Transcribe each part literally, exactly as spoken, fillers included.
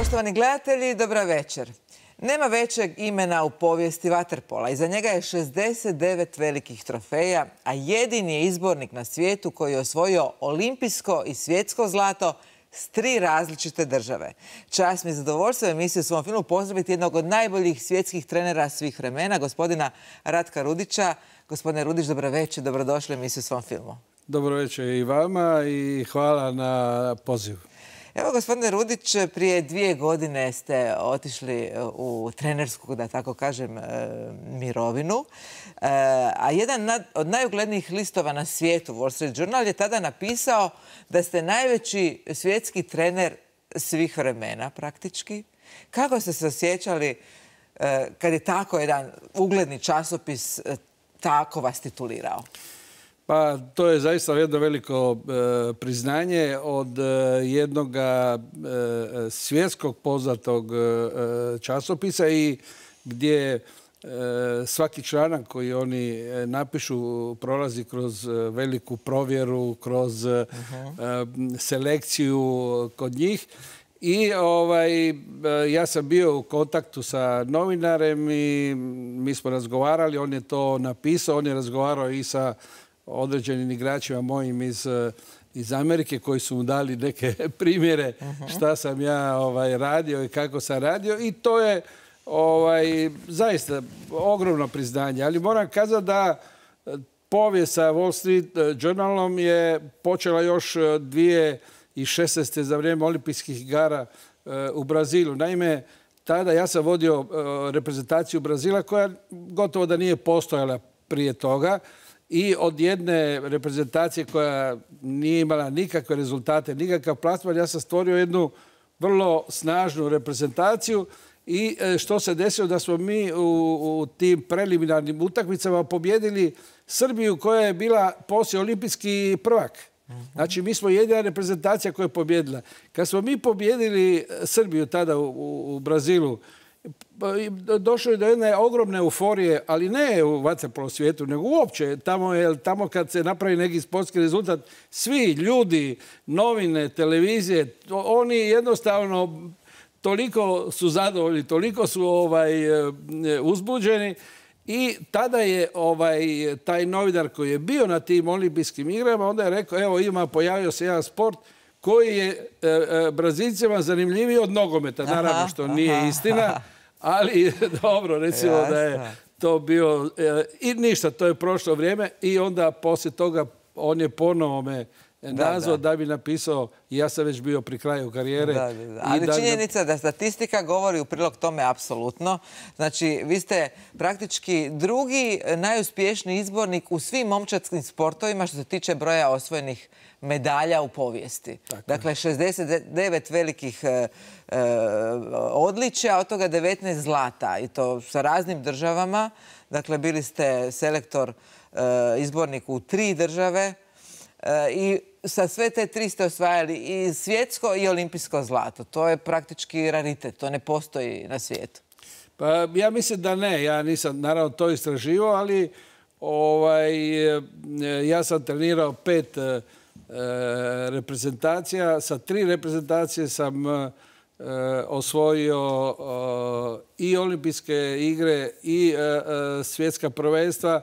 Poštovani gledatelji, dobra večer. Nema većeg imena u povijesti vaterpola. Iza njega je šezdeset devet velikih trofeja, a jedini je izbornik na svijetu koji je osvojio olimpijsko i svjetsko zlato s tri različite države. Čast mi je zadovoljstvo u emisiji u svom filmu pozdraviti jednog od najboljih svjetskih trenera svih vremena, gospodina Ratka Rudića. Gospodine Rudić, dobra večer, dobrodošli u emisiju u svom filmu. Dobro večer i vama i hvala na pozivu. Evo, gospodine Rudić, prije dvije godine ste otišli u trenersku, da tako kažem, mirovinu. A jedan od najuglednijih listova na svijetu, Wall Street Journal, je tada napisao da ste najveći svjetski trener svih vremena, praktički. Kako ste se osjećali kad je tako jedan ugledni časopis tako vas titulirao? Pa to je zaista jedno veliko e, priznanje od e, jednog e, svjetskog poznatog e, časopisa i gdje e, svaki članak koji oni napišu prolazi kroz veliku provjeru, kroz e, selekciju kod njih. I ovaj, ja sam bio u kontaktu sa novinarem i mi smo razgovarali, on je to napisao, on je razgovarao i sa određenim igračima mojim iz, iz Amerike koji su mu dali neke primjere šta sam ja ovaj, radio i kako sam radio i to je ovaj, zaista ogromno priznanje. Ali moram kazati da povijest sa Wall Street Journalom je počela još dvije tisuće šesnaeste. za vrijeme olimpijskih igara u Brazilu. Naime, tada ja sam vodio reprezentaciju Brazila koja gotovo da nije postojala prije toga. I od jedne reprezentacije koja nije imala nikakve rezultate, nikakav plasman, ja sam stvorio jednu vrlo snažnu reprezentaciju i što se desilo da smo mi u, u tim preliminarnim utakmicama pobjedili Srbiju koja je bila poslije olimpijski prvak. Znači, mi smo jedina reprezentacija koja je pobjedila. Kad smo mi pobjedili Srbiju tada u, u Brazilu, došlo je do jedne ogromne euforije, ali ne u vaterpolo svijetu, nego uopće. Tamo, je, tamo kad se napravi neki sportski rezultat, svi ljudi, novine, televizije, oni jednostavno toliko su zadovoljni, toliko su ovaj, uzbuđeni. I tada je ovaj, taj novinar koji je bio na tim olimpijskim igrama, onda je rekao, evo ima, pojavio se jedan sport koji je e, e, Brazilcima zanimljiviji od nogometa. Naravno što nije istina, ali dobro, recimo da je to bio... E, I ništa, to je prošlo vrijeme i onda poslije toga on je ponovo me nazvao da, da. da bi napisao, ja sam već bio pri kraju karijere. Da, da, da. Ali da, činjenica da statistika govori u prilog tome apsolutno. Znači, vi ste praktički drugi najuspješniji izbornik u svim momčadskim sportovima što se tiče broja osvojenih medalja u povijesti. Tako. Dakle, šezdeset devet velikih e, e, odličja, od toga devetnaest zlata. I to sa raznim državama. Dakle, bili ste selektor, e, izbornik u tri države. E, I sa sve te tri ste osvajali i svjetsko i olimpijsko zlato. To je praktički raritet. To ne postoji na svijetu. Pa ja mislim da ne. Ja nisam naravno to istraživao, ali ovaj, ja sam trenirao pet e, reprezentacija. Sa tri reprezentacije sam e, osvojio e, i olimpijske igre i e, e, svjetska prvenstva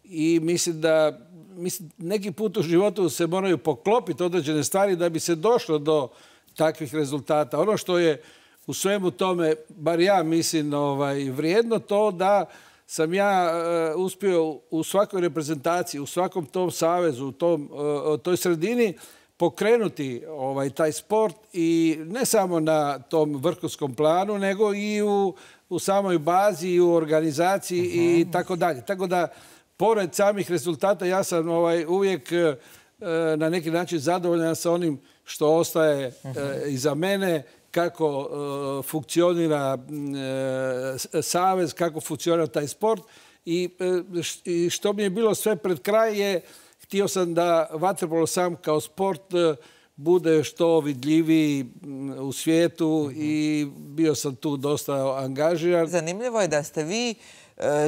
i mislim da Mislim, neki put u životu se moraju poklopiti određene stvari da bi se došlo do takvih rezultata. Ono što je u svemu tome, bar ja mislim, ovaj, vrijedno to da sam ja uh, uspio u svakoj reprezentaciji, u svakom tom savezu, u tom, uh, toj sredini pokrenuti ovaj, taj sport i ne samo na tom vrhunskom planu, nego i u, u samoj bazi, i u organizaciji uh-huh. i tako dalje. Tako da pored samih rezultata, ja sam ovaj, uvijek e, na neki način zadovoljan sa onim što ostaje e, iza mene, kako e, funkcionira e, savez, kako funkcionira taj sport. I, e, š, što mi je bilo sve pred kraj je, htio sam da vaterpolo sam kao sport e, bude što vidljiviji u svijetu mm-hmm. i bio sam tu dosta angažiran. Zanimljivo je da ste vi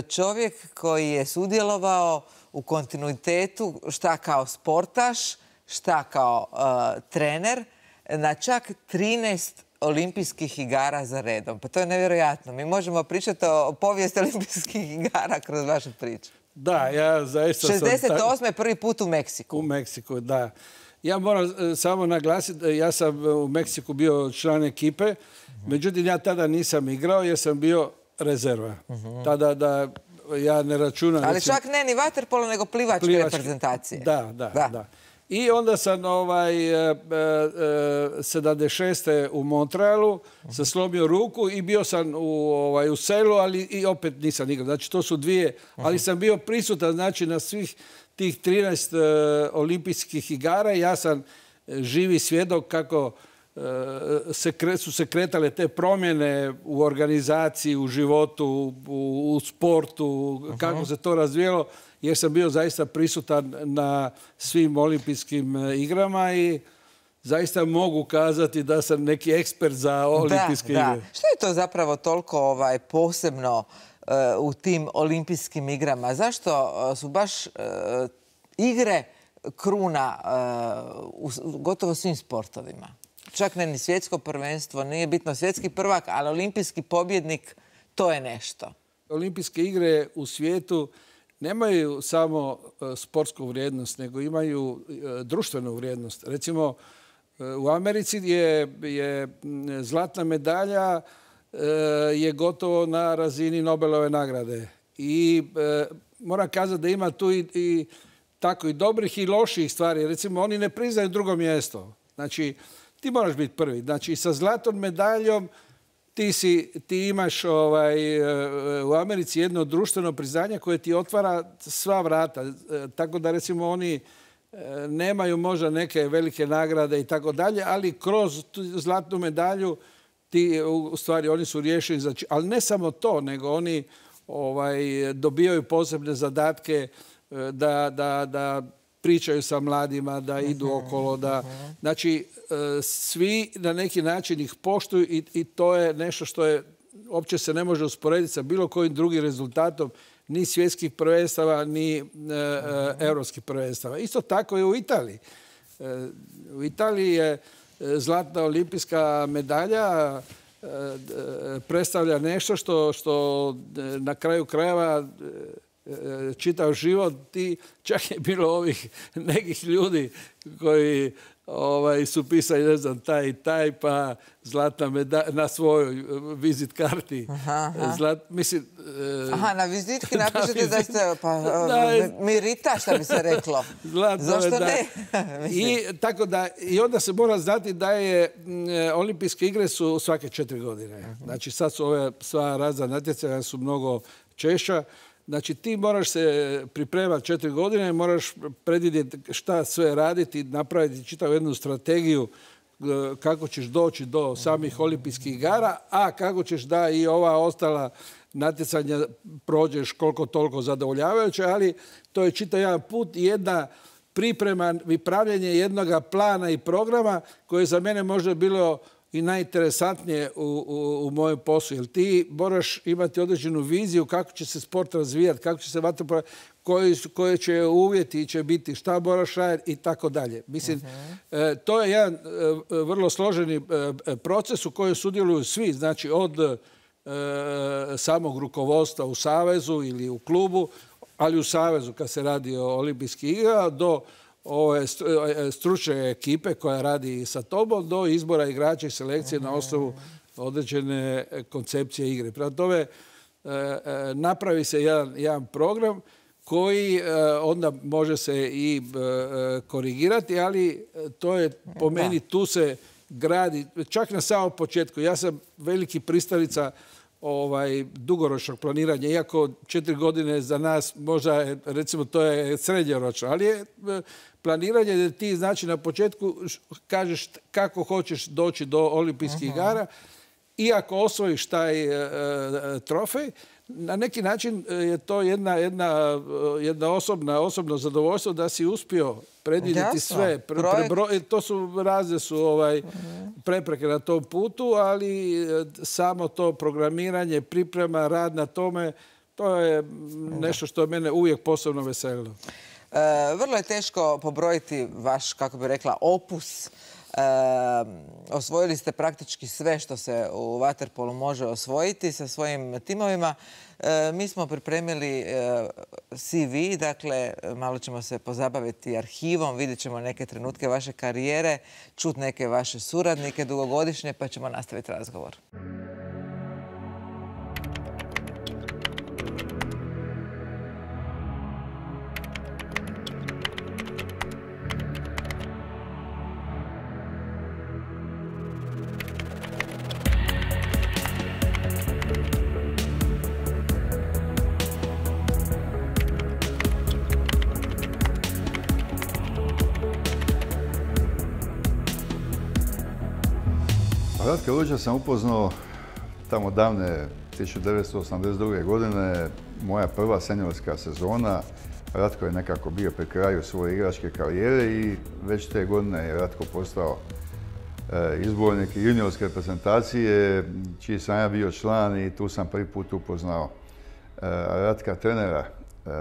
čovjek koji je sudjelovao u kontinuitetu šta kao sportaš, šta kao uh, trener na čak trinaest olimpijskih igara za redom. Pa to je nevjerojatno. Mi možemo pričati o povijesti olimpijskih igara kroz vašu priču. Da, ja zaista sam... šezdeset osme prvi put u Meksiku. U Meksiku, da. Ja moram samo naglasiti, ja sam u Meksiku bio član ekipe, međutim ja tada nisam igrao jer sam bio rezerva. Tada da ja ne računam... Ali čak ne ni vaterpolo, nego plivačke reprezentacije. Da, da, da. I onda sam ovaj, sedamdeset šeste u Montrealu se slomio ruku i bio sam u, ovaj, u selu, ali i opet nisam igrao. Znači to su dvije, ali sam bio prisutan znači, na svih tih trinaest uh, olimpijskih igara. Ja sam živi svjedok kako uh, se kre, su se kretale te promjene u organizaciji, u životu, u, u sportu, uh-huh. kako se to razvijelo. Jer sam bio zaista prisutan na svim olimpijskim igrama i zaista mogu kazati da sam neki ekspert za olimpijske da, igre. Da. Što je to zapravo toliko ovaj, posebno uh, u tim olimpijskim igrama? Zašto uh, su baš uh, igre kruna uh, u gotovo svim sportovima? Čak ne ni svjetsko prvenstvo, nije bitno svjetski prvak, ali olimpijski pobjednik, to je nešto. Olimpijske igre u svijetu nemaju samo sportsku vrijednost, nego imaju društvenu vrijednost. Recimo, u Americi je, je zlatna medalja je gotovo na razini Nobelove nagrade. I e, moram kazati da ima tu i, i tako i dobrih i loših stvari. Recimo, oni ne priznaju drugo mjesto. Znači, ti moraš biti prvi. Znači, sa zlatnom medaljom Ti, si, ti imaš ovaj, u Americi jedno društveno priznanje koje ti otvara sva vrata. Tako da recimo oni nemaju možda neke velike nagrade i tako dalje, ali kroz tu zlatnu medalju ti, u stvari oni su riješeni za... Ali ne samo to, nego oni ovaj, dobijaju posebne zadatke da, da, da pričaju sa mladima, da idu okolo, da... Znači, svi na neki način ih poštuju i, i to je nešto što je, uopće se ne može usporediti sa bilo kojim drugim rezultatom, ni svjetskih prvenstava, ni e, e, europskih prvenstava. Isto tako je u Italiji. E, u Italiji je zlatna olimpijska medalja e, predstavlja nešto što, što na kraju krajeva čitav život, ti, čak je bilo ovih nekih ljudi koji ovaj, su pisali, ne znam, taj i taj, pa zlatna medalja na svojoj vizit karti. Aha, aha. Zlat, mislim, aha, na vizitki napišete da ste, pa, da, mirita, što bi se reklo. Zašto ne? I, tako da, I onda se mora znati da je olimpijske igre su svake četiri godine. Znači, sad su ove sva razna natjecanja su mnogo češća. Znači, ti moraš se pripremati četiri godine, moraš predvidjeti šta sve raditi, napraviti čitavu jednu strategiju kako ćeš doći do samih olimpijskih igara, a kako ćeš da i ova ostala natjecanja prođeš koliko toliko zadovoljavajuće, ali to je čitav jedan put i jedna priprema i pravljenje jednog plana i programa koje za mene možda bilo i najinteresantnije u, u, u mojem poslu. Jer ti moraš imati određenu viziju kako će se sport razvijati, kako će se vaterpolo, koji, koje će uvjeti će biti, šta moraš raditi i tako dalje. Mislim, uh-huh. e, to je jedan e, vrlo složeni e, proces u kojem sudjeluju svi, znači od e, samog rukovodstva u savezu ili u klubu, ali u savezu kad se radi o olimpijskih igra, do ove stručne ekipe koja radi sa tobom do izbora igrača i selekcije na osnovu određene koncepcije igre. Prema tome, napravi se jedan, jedan program koji onda može se i korigirati, ali to je po meni, tu se gradi, čak na samom početku. Ja sam veliki pristalica ovaj, dugoročnog planiranja, iako četiri godine za nas možda, recimo, to je srednjoročno, ali je planiranje da ti znači na početku kažeš kako hoćeš doći do olimpijskih uh-huh. igara i ako osvojiš taj e, e, trofej, na neki način je to jedna, jedna, jedna osobna, osobno zadovoljstvo da si uspio predvidjeti sve. Pre, prebro, to su razne su ovaj, prepreke na tom putu, ali samo to programiranje, priprema, rad na tome, to je nešto što mene uvijek posebno veselilo. E, vrlo je teško pobrojiti vaš, kako bi rekla, opus osvojili ste praktički sve što se u vaterpolu može osvojiti sa svojim timovima. Mi smo pripremili C V, dakle, malo ćemo se pozabaviti arhivom, vidjet ćemo neke trenutke vaše karijere, čut neke vaše suradnike dugogodišnje, pa ćemo nastaviti razgovor. Ratka Lulića sam upoznao tamo davne tisuću devetsto osamdeset druge. godine, moja prva seniorska sezona. Ratko je nekako bio pri kraju svoje igračke karijere i već te godine je Ratko postao izbornik juniorske reprezentacije, čiji sam ja bio član i tu sam prvi put upoznao Ratka trenera.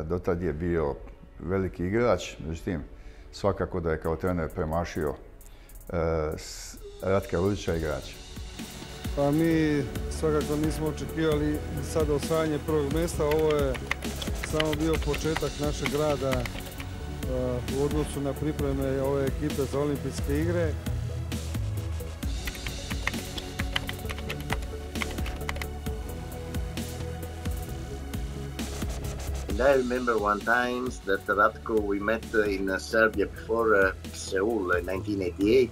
Dotad je bio veliki igrač, međutim svakako da je kao trener premašio Ratka Lulića igrača. Pa mi svakako nismo očekivali sad osvajanje prvog mjesta. Ovo je samo bio početak našeg rada u odnosu na pripreme ove ekipe za olimpijske igre. I remember one time that Ratko we met in Serbia before uh, Seoul in nineteen eighty-eight.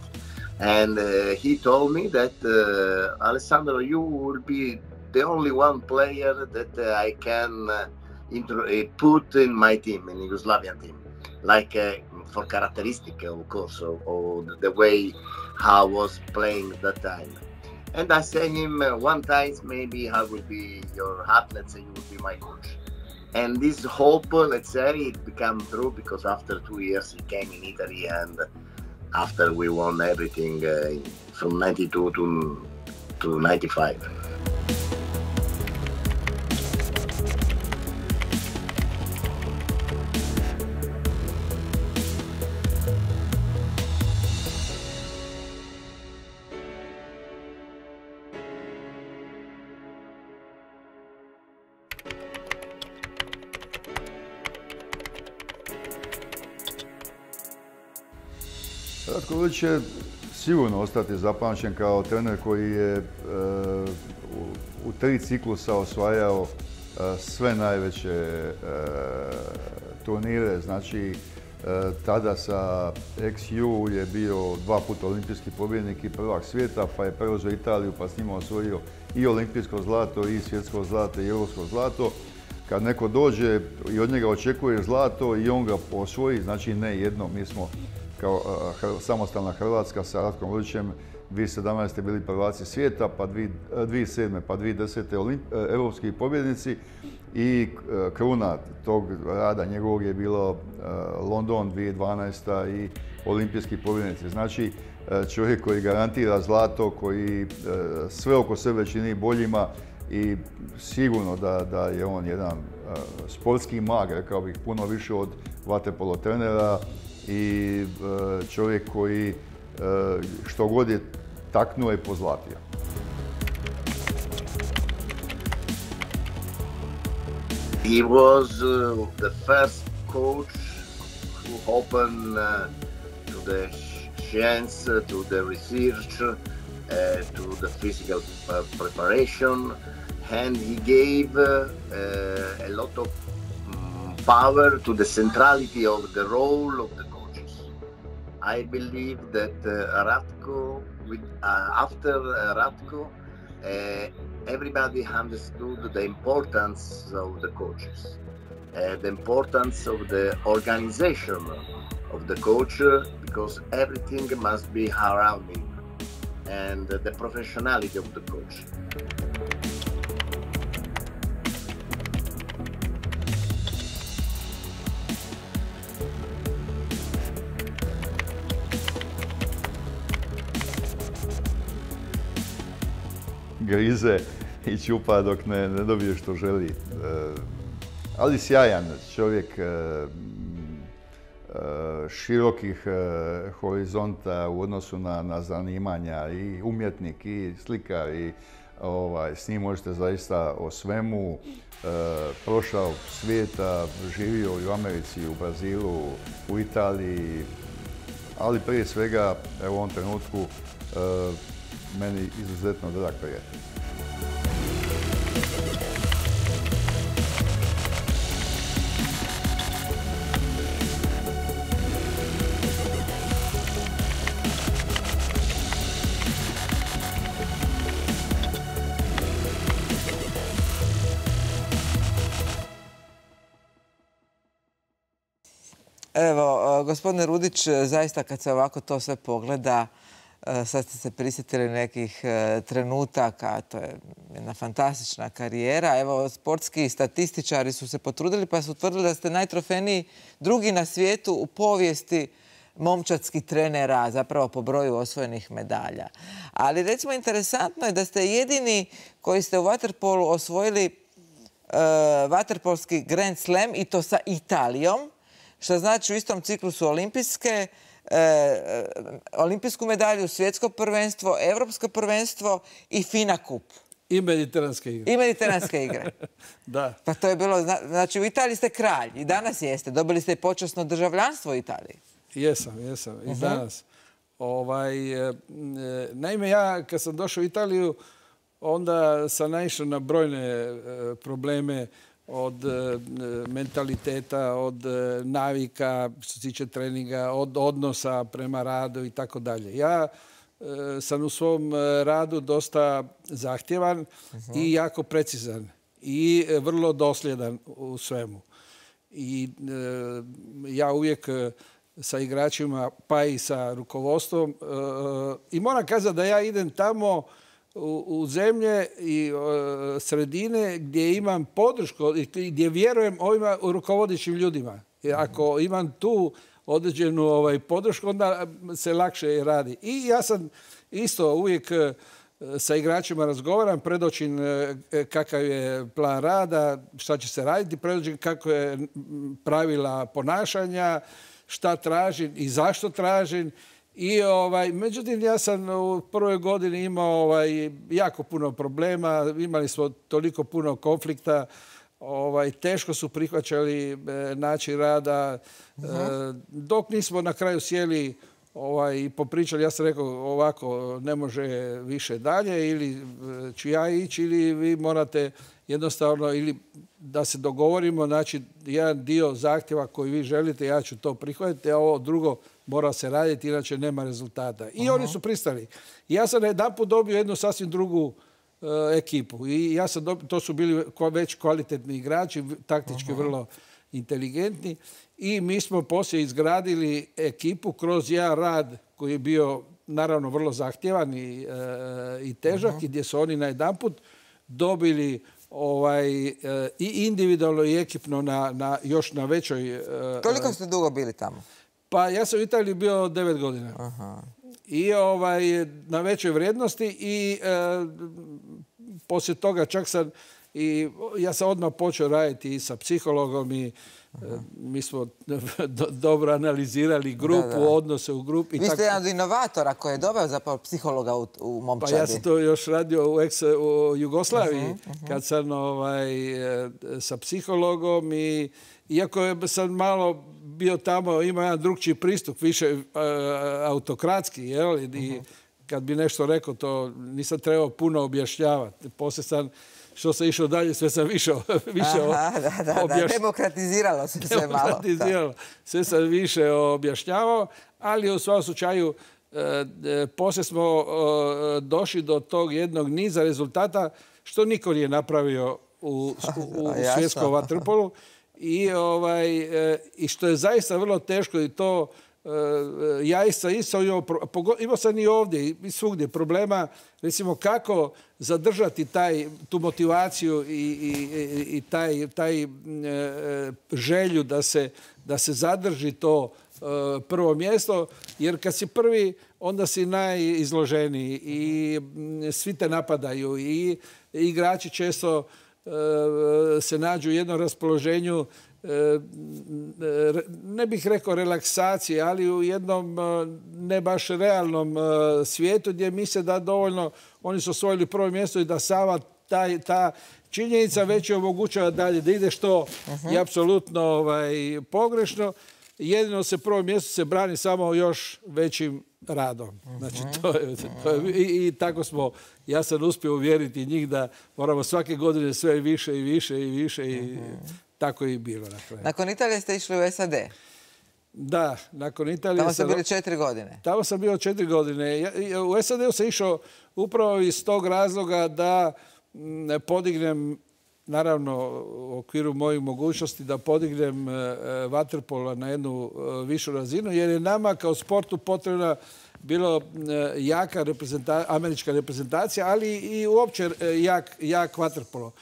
And uh, he told me that, uh, Alessandro, you will be the only one player that uh, I can uh, intro uh, put in my team, in Yugoslavian team, like uh, for characteristic, of course, of, of the way how I was playing that time. And I said him uh, one time, maybe I will be your athlete, and you will be my coach. And this hope, let's say, it became true because after two years he came in Italy and after we won everything uh, from ninety-two to, to ninety-five. Ratko Lulić će sigurno ostati zapamćen kao trener koji je e, u, u tri ciklusa osvajao e, sve najveće e, turnire. Znači, e, tada sa X U je bio dva puta olimpijski pobjednik i prvak svijeta, pa je preuzeo Italiju pa s njima osvojio i olimpijsko zlato, i svjetsko zlato, i europsko zlato. Kad neko dođe i od njega očekuje zlato i on ga osvoji, znači ne jedno, mi smo kao uh, samostalna Hrvatska sa Ratkom Lulićem dvije tisuće sedamnaeste. bili prvaci svijeta, pa dvije tisuće sedme. pa dvije tisuće desete. Olimp, uh, europski pobjednici i uh, kruna tog rada njegovog je bilo uh, London dvije tisuće dvanaeste. i olimpijski pobjednici. Znači uh, čovjek koji garantira zlato, koji uh, sve oko sebe čini boljima i sigurno da, da je on jedan uh, sportski mag, rekao bih, puno više od vaterpolo trenera i uh, čovjek koji uh, što god je taknuo je pozlatio. He was uh, the first coach who opened uh, to the science, uh, to the research, uh, to the physical uh, preparation, and he gave uh, uh, a lot of um, power to the centrality of the role of the coaches. I believe that uh, Ratko, with, uh, after uh, Ratko, uh, everybody understood the importance of the coaches, uh, the importance of the organization of the coach, uh, because everything must be around him, and uh, the professionality of the coach. Grize i čupa dok ne, ne dobije što želi. E, ali sjajan čovjek, e, e, širokih horizonta u odnosu na, na zanimanja, i umjetnik i slikar, i ovaj, s njim možete zaista o svemu. E, prošao svijeta, živio i u Americi, u Brazilu, u Italiji, ali prije svega evo, u ovom trenutku e, meni izuzetno drag prijatelj. Evo, gospodine Rudić, zaista kad se ovako to sve pogleda, sad ste se prisjetili nekih trenutaka, to je jedna fantastična karijera. Evo, sportski statističari su se potrudili pa su utvrdili da ste najtrofejniji drugi na svijetu u povijesti momčadskih trenera, zapravo po broju osvojenih medalja. Ali recimo interesantno je da ste jedini koji ste u vaterpolu osvojili uh, vaterpolski Grand Slam, i to sa Italijom, što znači u istom ciklusu olimpijske, e, olimpijsku medalju, svjetsko prvenstvo, evropsko prvenstvo i FINA kup. I mediteranske igre. I mediteranske igre. Da. Pa to je bilo, znači u Italiji ste kralj i danas jeste. Dobili ste i počasno državljanstvo u Italiji. Jesam, jesam. I uh-huh. danas. Ovaj, e, naime, ja kad sam došao u Italiju, onda sam naišao na brojne e, probleme od e, mentaliteta, od e, navika, što se tiče treninga, od odnosa prema radu i tako dalje. Ja e, sam u svom radu dosta zahtjevan uh-huh. i jako precizan i e, vrlo dosljedan u svemu. I e, ja uvijek e, sa igračima, pa i sa rukovodstvom, e, i moram kazati da ja idem tamo U, u zemlje i uh, sredine gdje imam podršku, gdje vjerujem ovima rukovodećim ljudima. Jer ako imam tu određenu ovaj, podršku, onda se lakše radi. I ja sam isto uvijek uh, sa igračima razgovaram, predočim uh, kakav je plan rada, šta će se raditi, predočim kako je pravila ponašanja, šta tražim i zašto tražim. I, ovaj, međutim, ja sam u prvoj godini imao ovaj, jako puno problema, imali smo toliko puno konflikta, ovaj, teško su prihvaćali e, način rada, uh-huh. e, dok nismo na kraju sjeli ovaj, i popričali. Ja sam rekao ovako, ne može više dalje, ili ću ja ići, ili vi morate jednostavno, ili da se dogovorimo, znači jedan dio zahtjeva koji vi želite, ja ću to prihvatiti, a ovo drugo mora se raditi, inače nema rezultata. I uh-huh. oni su pristali. I ja sam jedanput dobio jednu sasvim drugu uh, ekipu. I ja sam dobio, to su bili već kvalitetni igrači, taktički uh-huh. vrlo inteligentni. I mi smo poslije izgradili ekipu kroz jedan rad koji je bio naravno vrlo zahtjevan i, uh, i težak, uh-huh. i gdje su oni na jedanput dobili ovaj, uh, i individualno i ekipno na, na, još na većoj... Uh, Koliko ste dugo bili tamo? Pa ja sam u Italiji bio devet godina. Aha. I ovaj, na većoj vrijednosti i e, poslije toga čak sam i ja sam odmah počeo raditi i sa psihologom i e, mi smo do, dobro analizirali grupu, da, da. odnose u grupi. Vi ste jedan od inovatora koji je doveo zapravo psihologa u, u momčadi. Pa ja sam to još radio u, ex, u Jugoslaviji uh-huh, uh-huh. kad sam ovaj, sa psihologom i iako sam malo bio tamo, ima jedan drugčiji pristup, više uh, autokratski, jel? I uh-huh. kad bi nešto rekao, to nisam trebao puno objašnjavati. Poslije sam, što sam išao dalje, sve sam više, više Aha, da, da, objaš... da, demokratiziralo se sve malo. Demokratiziralo. Sve sam više objašnjavao, ali u svom slučaju uh, poslije smo uh, došli do tog jednog niza rezultata što niko nije napravio u, u, u svjetskom vaterpolu. I, ovaj, i što je zaista vrlo teško i to ja sam isto imao, imao sam i ovdje i svugdje problema, recimo kako zadržati taj, tu motivaciju i, i, i taj, taj želju da se, da se zadrži to prvo mjesto, jer kad si prvi, onda si najizloženiji i svi te napadaju i igrači često se nađu u jednom raspoloženju ne bih rekao relaksacije, ali u jednom ne baš realnom svijetu gdje misle da dovoljno oni su osvojili prvo mjesto i da sama taj, ta činjenica već je omogućava dalje da ide što je apsolutno ovaj, pogrešno. Jedino se prvo mjesto se brani samo još većim radom. Znači, to je, to je, i, i tako smo, ja sam uspio uvjeriti njih da moramo svake godine sve više i više i više i tako je i bilo. Dakle. Nakon Italije ste išli u S A D? Da, nakon Italije... Tamo ste bili četiri godine? Tamo sam bio četiri godine. Ja, u S A D-u sam išao upravo iz tog razloga da m, podignem, naravno u okviru mojih mogućnosti, da podignem e, vaterpolo na jednu e, višu razinu, jer je nama kao sportu potrebna bilo e, jaka reprezenta, američka reprezentacija, ali i uopće e, jak, jak vaterpolo.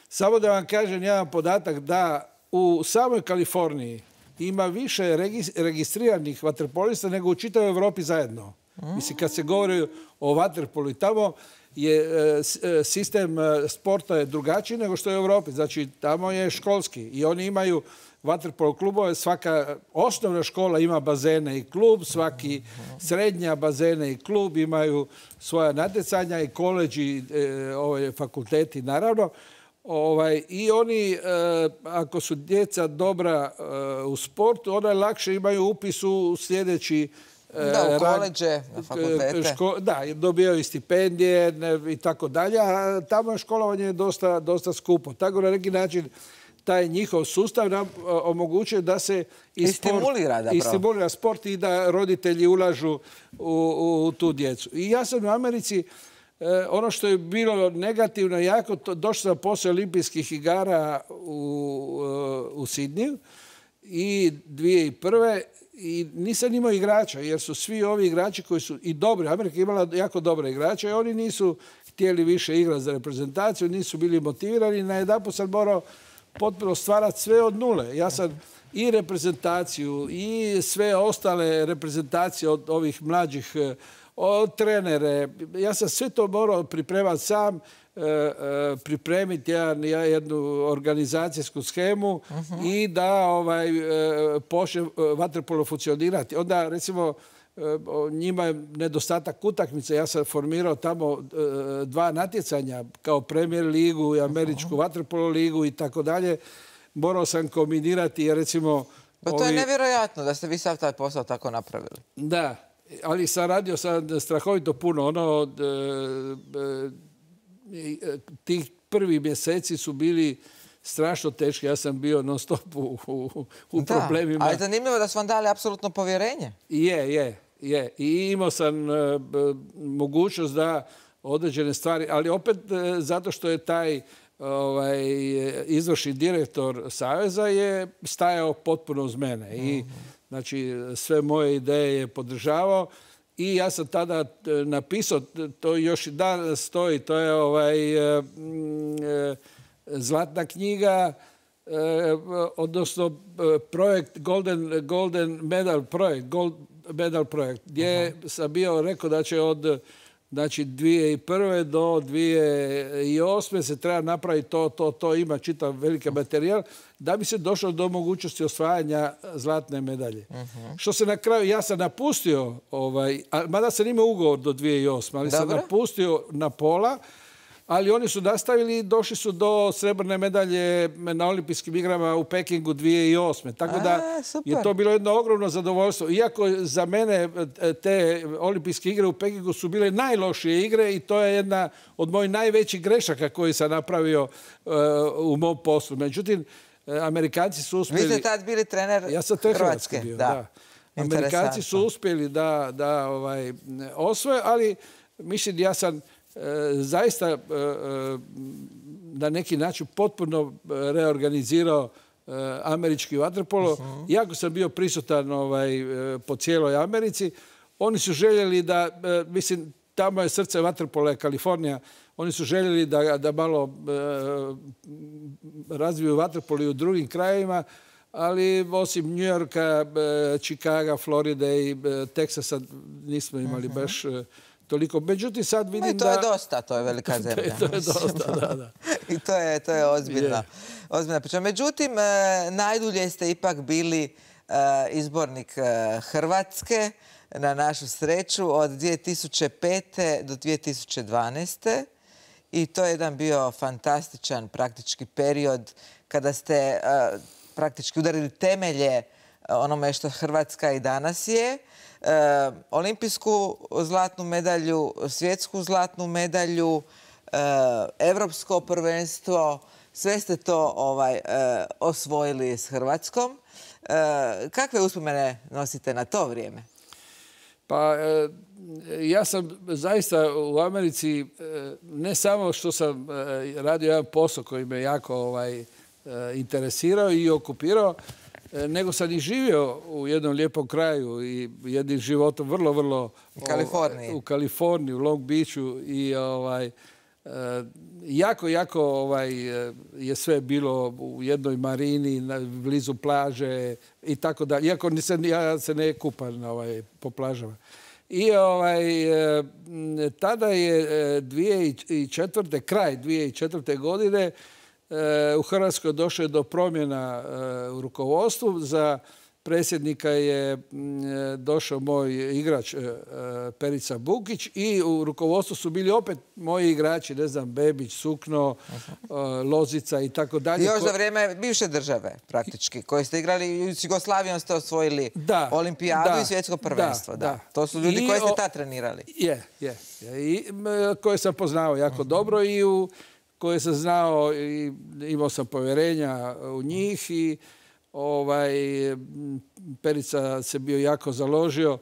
Samo da vam kažem jedan podatak da u samoj Kaliforniji ima više registriranih vaterpolista nego u čitavoj Europi zajedno. Mislim, kad se govori o vaterpolu i tamo je sistem sporta je drugačiji nego što je u Europi. Znači, tamo je školski i oni imaju vaterpolo klubove. Svaka osnovna škola ima bazene i klub, svaki srednja bazene i klub imaju svoja natjecanja i koleđi, ovaj, fakulteti naravno. Ovaj, I oni, e, ako su djeca dobra e, u sportu, onda lakše imaju upis u sljedeći e, da, u koleđe, na fakultete. Ško, da, dobijaju stipendije ne, i tako dalje, a tamo je školovanje dosta, dosta skupo. Tako na neki način taj njihov sustav nam omogućuje da se i, I sport, stimulira, i stimulira sport i da roditelji ulažu u, u tu djecu. I ja sam u Americi, E, ono što je bilo negativno jako, to, došao sam poslije olimpijskih igara u, u Sidniju i dvije tisuće prve i nisam imao igrača, jer su svi ovi igrači koji su i dobri, Amerika je imala jako dobre igrače i oni nisu htjeli više igrati za reprezentaciju, nisu bili motivirani. Najedanput sam morao potpuno stvarati sve od nule. Ja sam i reprezentaciju i sve ostale reprezentacije od ovih mlađih od trenere. Ja sam sve to morao pripremati sam, e, e, pripremiti jedan, jednu organizacijsku schemu uh-huh. i da ovaj, e, počne vaterpolo funkcionirati. Onda, recimo, e, njima je nedostatak utakmice. Ja sam formirao tamo e, dva natjecanja kao Premier ligu i američku uh-huh. vaterpolo ligu i tako dalje. Morao sam kombinirati, jer recimo... Pa to ovi... je nevjerojatno da ste vi sav taj posao tako napravili. Da. Ali sam radio sam strahovito puno. Ono, e, e, tih prvi mjeseci su bili strašno teški. Ja sam bio non stop u, u, u da, problemima. Ali zanimljivo da su vam dali apsolutno povjerenje. Je, je, je. I imao sam e, mogućnost da određene stvari, ali opet e, zato što je taj ovaj, izvršni direktor Saveza je stajao potpuno uz mene. I znači, sve moje ideje je podržavao i ja sam tada napisao, to još i danas stoji, to je ovaj, e, e, zlatna knjiga, e, odnosno projekt Golden, Golden Medal projekt, Gold Medal projekt, gdje uh-huh. sam bio rekao da će od znači, dvije tisuće prve do dvije tisuće osme se treba napraviti to, to, to, ima čitav veliki materijal da bi se došlo do mogućnosti osvajanja zlatne medalje. Uh-huh. Što se na kraju, ja sam napustio, ovaj, mada sam imao ugovor do dvije tisuće osme, ali Dobre. sam napustio na pola, ali oni su nastavili i došli su do srebrne medalje na olimpijskim igrama u Pekingu dvije tisuće osme. Tako da A, je to bilo jedno ogromno zadovoljstvo. Iako za mene te olimpijske igre u Pekingu su bile najlošije igre i to je jedna od mojih najvećih grešaka koje sam napravio uh, u mom poslu. Međutim, Amerikanci su uspjeli... Vi ste tad bili trener ja sam Hrvatske. Bio, da. Da. Amerikanci su uspjeli da, da ovaj, osvoje, ali mislim ja sam zaista na neki način potpuno reorganizirao američki vaterpolo. Uh-huh. Iako sam bio prisutan ovaj, po cijeloj Americi, oni su željeli da, mislim, tamo je srce vaterpola, je Kalifornija, oni su željeli da, da malo razviju vaterpolo i u drugim krajevima, ali osim New Yorka, Chicaga, Floride i Teksasa nismo imali uh-huh. baš toliko. Međutim, sad vidim da... I to je dosta, to je velika zemlja. To je dosta, da, da. I to je, to je ozbiljna, ozbiljna priča. Međutim, najdulje ste ipak bili izbornik Hrvatske, na našu sreću, od dvije tisuće pete do dvije tisuće dvanaeste. I to je jedan bio fantastičan praktički period kada ste praktički udarili temelje onome što Hrvatska i danas je. Olimpijsku zlatnu medalju, svjetsku zlatnu medalju, evropsko prvenstvo, sve ste to ovaj, osvojili s Hrvatskom. Kakve uspomene nosite na to vrijeme? Pa ja sam zaista u Americi, ne samo što sam radio jedan posao koji me jako ovaj, interesirao i okupirao, nego sam i živio u jednom lijepom kraju i jednim životom vrlo, vrlo... U Kaliforniji. U Kaliforniji, u Long Beachu i ovaj, jako, jako ovaj, je sve bilo u jednoj marini, blizu plaže i tako dalje. Iako nisam, ja se ne kupam ovaj, po plažama. I ovaj, tada je dvije tisuće četvrte. kraj dvije tisuće četvrte. godine u Hrvatskoj došlo je do promjena u rukovodstvu. Za predsjednika je došao moj igrač Perica Bukić i u rukovodstvu su bili opet moji igrači, ne znam, Bebić, Sukno, Lozica i tako dalje. Još za vrijeme bivše države, praktički, koje ste igrali i s Jugoslavijom ste osvojili da, olimpijadu da, i svjetsko prvenstvo. Da, da. To su ljudi I koje ste tad trenirali. Je, je. I koje sam poznao jako uh-huh. dobro i u koje sam znao i imao sam povjerenja u njih i ovaj, Perica se bio jako založio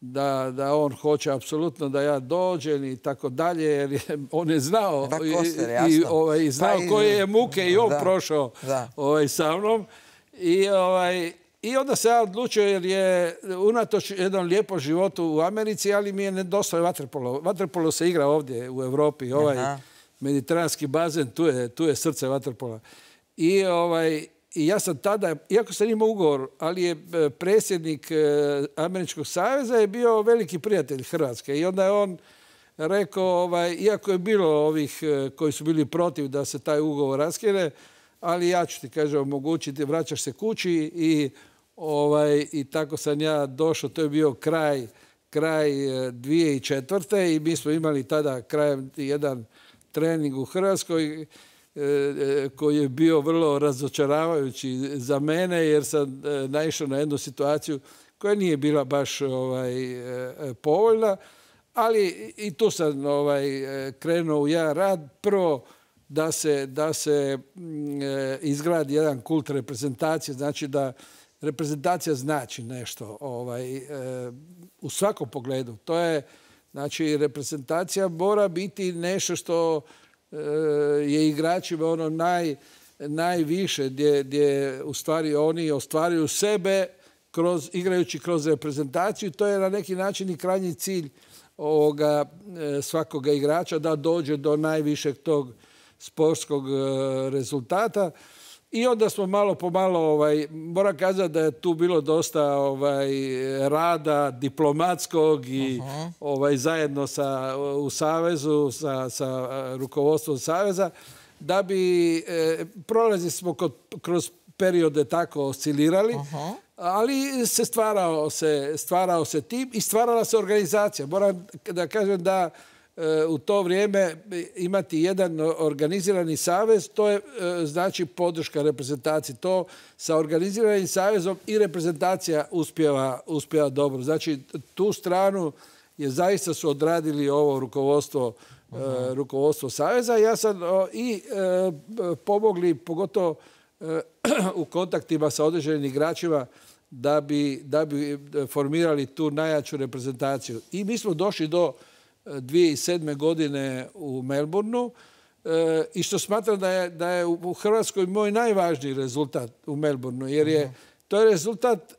da, da on hoće apsolutno da ja dođem i tako dalje, jer je, on je znao da, Koster, i, i ovaj, znao pa koje je muke i on da, prošao ovaj, sa mnom. I, ovaj, I onda se ja odlučio jer je unatoč jednom lijepom životu u Americi, ali mi je nedostao vaterpolo. Vaterpolo se igra ovdje u Europi, ovaj Aha. mediteranski bazen, tu je, tu je srce vaterpola. I ovaj, I ja sam tada, iako sam imao ugovor, ali je predsjednik Američkog saveza je bio veliki prijatelj Hrvatske. I onda je on rekao, ovaj, iako je bilo ovih koji su bili protiv da se taj ugovor raskine, ali ja ću ti, kaže, omogućiti, vraćaš se kući i, ovaj, i tako sam ja došao. To je bio kraj, kraj dvije tisuće četvrte. i mi smo imali tada krajem jedan trening u Hrvatskoj koji je bio vrlo razočaravajući za mene jer sam naišao na jednu situaciju koja nije bila baš ovaj, povoljna, ali i tu sam ovaj, krenuo u jedan rad. Prvo da se, da se izgradi jedan kult reprezentacije, znači da reprezentacija znači nešto ovaj, u svakom pogledu. To je, znači, reprezentacija mora biti nešto što je igračima ono naj, najviše gdje, gdje u stvari oni ostvaruju sebe kroz, igrajući kroz reprezentaciju. To je na neki način i krajnji cilj ovoga svakoga igrača da dođe do najvišeg tog sportskog rezultata. I onda smo malo po malo, ovaj, moram kazati da je tu bilo dosta ovaj, rada diplomatskog i uh-huh. ovaj, zajedno sa, u Savezu, sa, sa rukovodstvom Saveza, da bi e, prolazili smo kod, kroz periode tako oscilirali, uh-huh. ali se stvarao, se stvarao se tim i stvarala se organizacija. Moram da kažem da u to vrijeme imati jedan organizirani savez, to je znači podrška reprezentaciji. To sa organiziranim savezom i reprezentacija uspjeva, uspjeva dobro. Znači tu stranu je zaista su odradili ovo rukovodstvo, uh-huh. rukovodstvo saveza. Ja sam i pomogli, pogotovo u kontaktima sa određenim igračima, da bi, da bi formirali tu najjaču reprezentaciju. I mi smo došli do dvije tisuće sedme. godine u Melbourneu e, i što smatram da je, da je u Hrvatskoj moj najvažniji rezultat u Melbourneu, jer je to je rezultat e,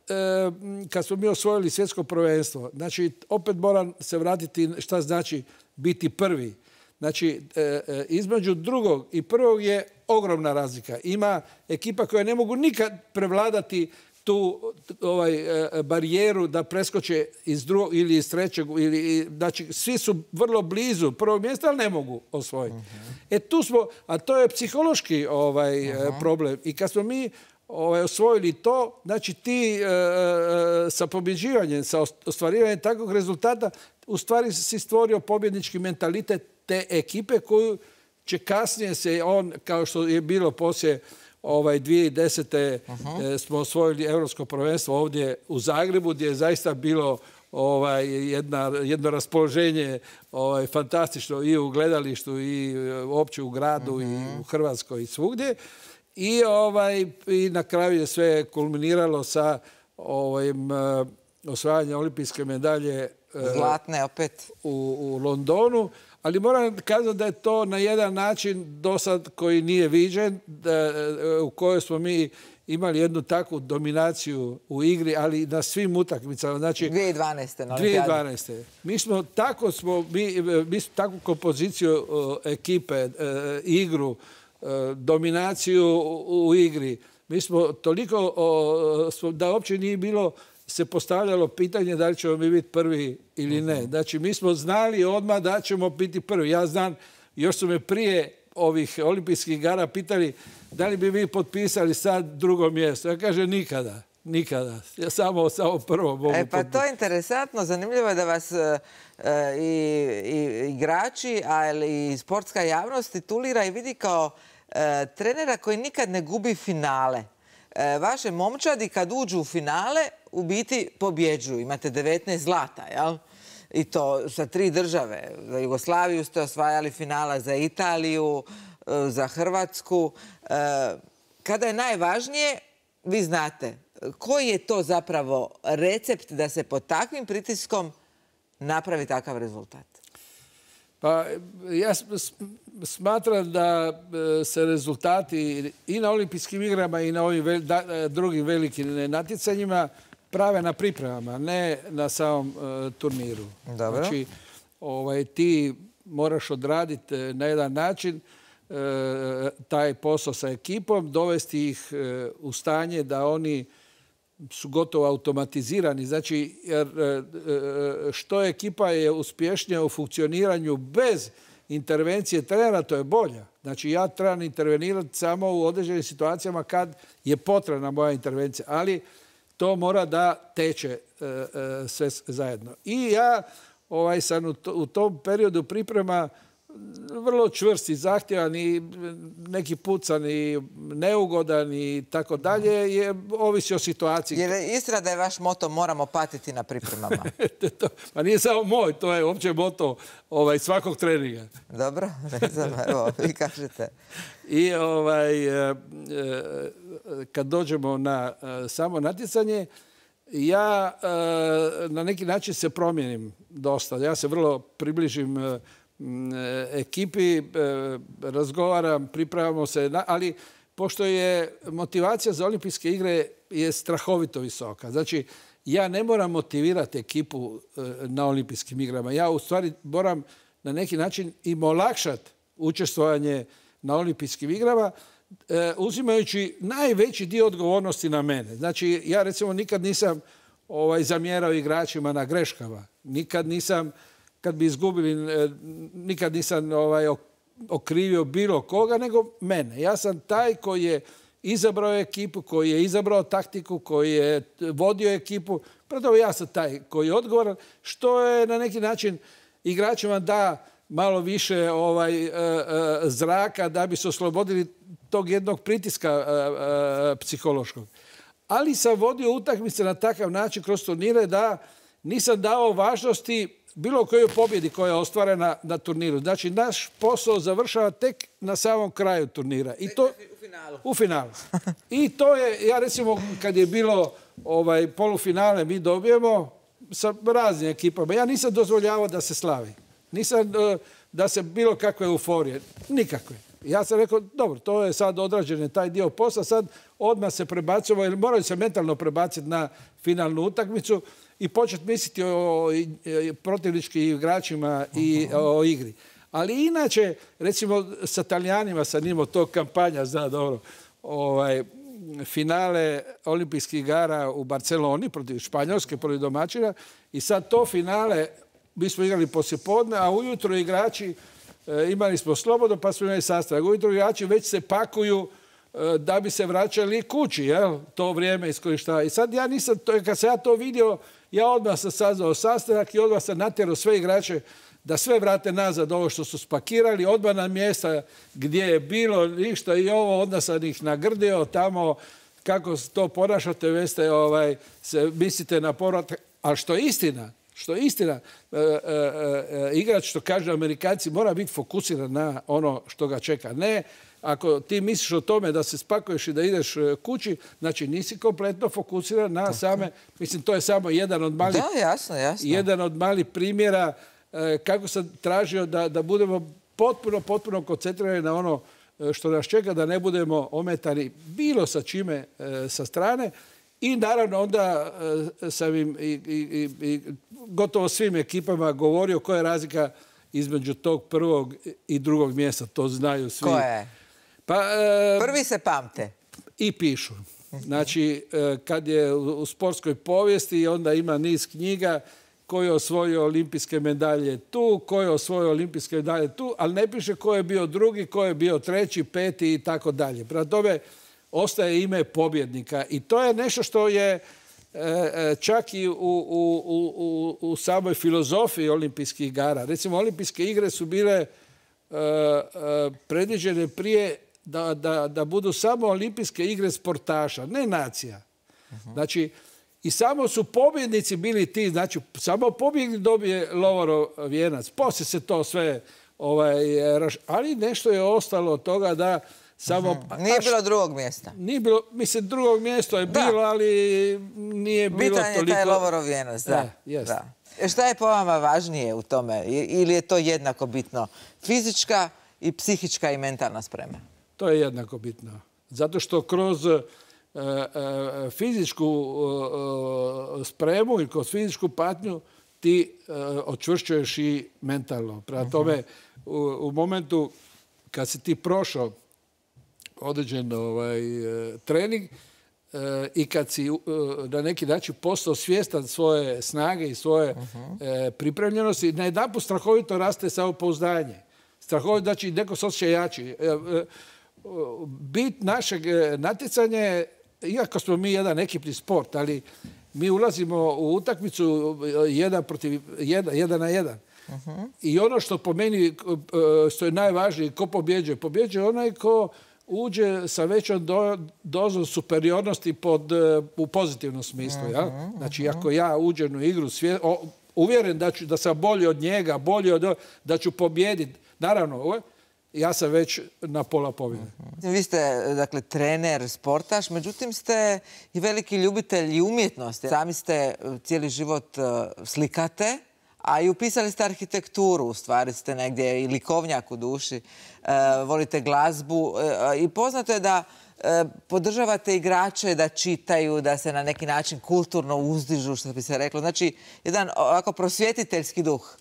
kad smo mi osvojili svjetsko prvenstvo. Znači, opet moram se vratiti šta znači biti prvi. Znači, e, e, između drugog i prvog je ogromna razlika. Ima ekipa koja ne mogu nikad prevladati tu ovaj, barijeru da preskoče iz drugog ili iz trećeg. Ili, znači, svi su vrlo blizu prvog mjesta, ali ne mogu osvojiti. Uh-huh. E tu smo, a to je psihološki ovaj, uh-huh. problem. I kad smo mi ovaj, osvojili to, znači ti e, sa pobjeđivanjem, sa ostvarivanjem takvog rezultata, u stvari si stvorio pobjednički mentalitet te ekipe koju će kasnije se on, kao što je bilo poslije ovaj, dvije tisuće desete. Uh-huh. smo osvojili Europsko prvenstvo ovdje u Zagrebu, gdje je zaista bilo ovaj, jedna, jedno raspoloženje ovaj, fantastično i u gledalištu i uopće u gradu uh-huh. i u Hrvatskoj i svugdje. I, ovaj, i na kraju je sve kulminiralo sa ovim, uh, osvajanjem olimpijske medalje zlatne opet u, u Londonu. Ali moram kazati da je to na jedan način do sad koji nije viđen, da, u kojoj smo mi imali jednu takvu dominaciju u igri, ali na svim utakmicama. Znači, dvije tisuće dvanaeste. Na dvije tisuće dvanaeste. Mi smo tako smo, mi, mi smo takvu kompoziciju uh, ekipe, uh, igru, uh, dominaciju u, u igri. Mi smo toliko, uh, smo, da uopće nije bilo se postavljalo pitanje da li ćemo mi biti prvi ili ne. Znači, mi smo znali odmah da ćemo biti prvi. Ja znam, još su me prije ovih olimpijskih igara pitali da li bi vi potpisali sad drugo mjesto. Ja kažem nikada, nikada. Ja samo, samo prvo mogu E pa potpisati. to je interesantno. Zanimljivo je da vas e, i, i igrači, ali i sportska javnost titulira i vidi kao e, trenera koji nikad ne gubi finale. E, vaše momčadi kad uđu u finale u biti pobjeđuju. Imate devetnaest zlata, jel? I to sa tri države. Za Jugoslaviju ste osvajali finala, za Italiju, za Hrvatsku. Kada je najvažnije, vi znate, koji je to zapravo recept da se pod takvim pritiskom napravi takav rezultat? Pa ja smatram da se rezultati i na olimpijskim igrama i na ovim drugim velikim natjecanjima prave na pripremama, ne na samom uh, turniru. Dobro. Znači, ovaj, ti moraš odraditi na jedan način uh, taj posao sa ekipom, dovesti ih uh, u stanje da oni su gotovo automatizirani. Znači, jer uh, što ekipa je uspješnija u funkcioniranju bez intervencije trenera, to je bolja. Znači, ja trebam intervenirati samo u određenim situacijama kad je potrebna moja intervencija. Ali to mora da teče e, e, sve zajedno. I ja ovaj, sam u, to, u tom periodu priprema vrlo čvrst i zahtjevan i neki pucan i neugodan i tako dalje, je ovisi o situaciji. Jer je istina da je vaš moto moramo patiti na pripremama? to, pa nije samo moj, to je uopće moto ovaj, svakog treninga. Dobro, ne znam, evo, vi kažete. I ovaj, e, e, kad dođemo na e, samo natjecanje, ja e, na neki način se promijenim dosta. Ja se vrlo približim e, ekipi, e, razgovaram, pripravamo se, na, ali pošto je motivacija za olimpijske igre je strahovito visoka. Znači, ja ne moram motivirati ekipu e, na olimpijskim igrama. Ja u stvari moram na neki način im olakšati učestvovanje na olimpijskim igrama, e, uzimajući najveći dio odgovornosti na mene. Znači, ja recimo nikad nisam ovaj, zamjerao igračima na greškama. Nikad nisam, kad bi izgubili, e, nikad nisam ovaj, okrivio bilo koga, nego mene. Ja sam taj koji je izabrao ekipu, koji je izabrao taktiku, koji je vodio ekipu. Prvo ja sam taj koji je odgovoran, što je na neki način igračima da malo više ovaj, e, e, zraka da bi se oslobodili tog jednog pritiska e, e, psihološkog. Ali sam vodio utakmice na takav način kroz turnire da nisam dao važnosti bilo kojoj pobjedi koja je ostvarena na turniru. Znači, naš posao završava tek na samom kraju turnira. I to, u finalu. U finalu. I to je, ja recimo, kad je bilo ovaj, polufinale, mi dobijemo sa raznim ekipama. Ja nisam dozvoljavao da se slavi. Nisam da se bilo kakve euforije. Nikakve. Ja sam rekao, dobro, to je sad odrađen taj dio posla, sad odmah se prebacimo, jer moraju se mentalno prebaciti na finalnu utakmicu i početi misliti o protivničkim igračima i o igri. Ali inače, recimo sa Talijanima sam imao to kampanja, zna dobro, ovaj, finale olimpijskih igara u Barceloni protiv Španjolske, protiv domaćina. I sad to finale, mi smo igrali poslijepodne, a ujutro igrači, imali smo slobodno pa smo imali sastanak. Ujutro igrači već se pakuju da bi se vraćali kući, jel? To vrijeme iskorištava. I sad ja nisam, kad sam ja to vidio, ja odmah sam sazvao sastanak i odmah sam natjerao sve igrače da sve vrate nazad ovo što su spakirali, odmah na mjesta gdje je bilo ništa i ovo, onda sam ih nagrdio tamo kako to ponašate, veste, ovaj, se mislite na povratak. Ali što je istina, što je istina, e, e, e, igrač, što kažu Amerikanci, mora biti fokusiran na ono što ga čeka. Ne, ako ti misliš o tome da se spakuješ i da ideš kući, znači nisi kompletno fokusiran na same, mislim, to je samo jedan od malih, da, jasno, jasno. jedan od malih primjera e, kako sam tražio da, da budemo potpuno, potpuno koncentrirani na ono što nas čeka, da ne budemo ometani bilo sa čime e, sa strane. I naravno onda e, sam im i, i, i gotovo svim ekipama govorio koja je razlika između tog prvog i drugog mjesta. To znaju svi. Koja je? Pa, e, prvi se pamte. I pišu. Znači, e, kad je u, u sportskoj povijesti, onda ima niz knjiga ko je osvojio olimpijske medalje tu, ko je osvojio olimpijske medalje tu, ali ne piše ko je bio drugi, ko je bio treći, peti i tako dalje. Prema tome, ostaje ime pobjednika. I to je nešto što je e, čak i u, u, u, u samoj filozofiji olimpijskih igara. Recimo, olimpijske igre su bile e, e, predviđene prije da, da, da budu samo olimpijske igre sportaša, ne nacija. Uh-huh. Znači, i samo su pobjednici bili ti, znači, samo pobjednik dobije Lovorov vijenac. Poslije se to sve, ovaj, ali nešto je ostalo od toga da samo... Uh-huh. Nije bilo drugog mjesta. Nije bilo, mislim, drugog mjesta je da. bilo, ali nije bilo bitan toliko... Bitan je taj Lovorov vijenac, da. E, da. Šta je po vama važnije u tome? Ili je to jednako bitno? Fizička i psihička i mentalna sprema? To je jednako bitno. Zato što kroz uh, uh, fizičku uh, spremu i kroz fizičku patnju ti uh, očvršćuješ i mentalno. Prema tome, u, u momentu kad si ti prošao određen ovaj, trening uh, i kad si uh, na neki način postao svjestan svoje snage i svoje uh-huh. uh, pripremljenosti, najedanput strahovito raste samopouzdanje. Strahovito, znači neko se osjeća jači. Uh, Bit našeg natjecanja je, iako smo mi jedan ekipni sport, ali mi ulazimo u utakmicu jedan protiv jedan, jedan na jedan. Uh-huh. I ono što po meni, što je najvažnije, ko pobjeđuje? Pobjeđuje onaj ko uđe sa većom do, dozom superiornosti pod, u pozitivnom smislu. Uh-huh. Ja? Znači, ako ja uđem u igru, svje, o, uvjeren da, ću, da sam bolji od njega, bolji od, da ću pobjediti. Naravno, ja sam već na pola pobjede. Vi ste, dakle, trener, sportaš, međutim ste i veliki ljubitelj i umjetnosti. Sami ste cijeli život slikate, a i upisali ste arhitekturu, u stvari ste negdje i likovnjak u duši, volite glazbu i poznato je da podržavate igrače da čitaju, da se na neki način kulturno uzdižu, što bi se reklo. Znači, jedan ovako prosvjetiteljski duh.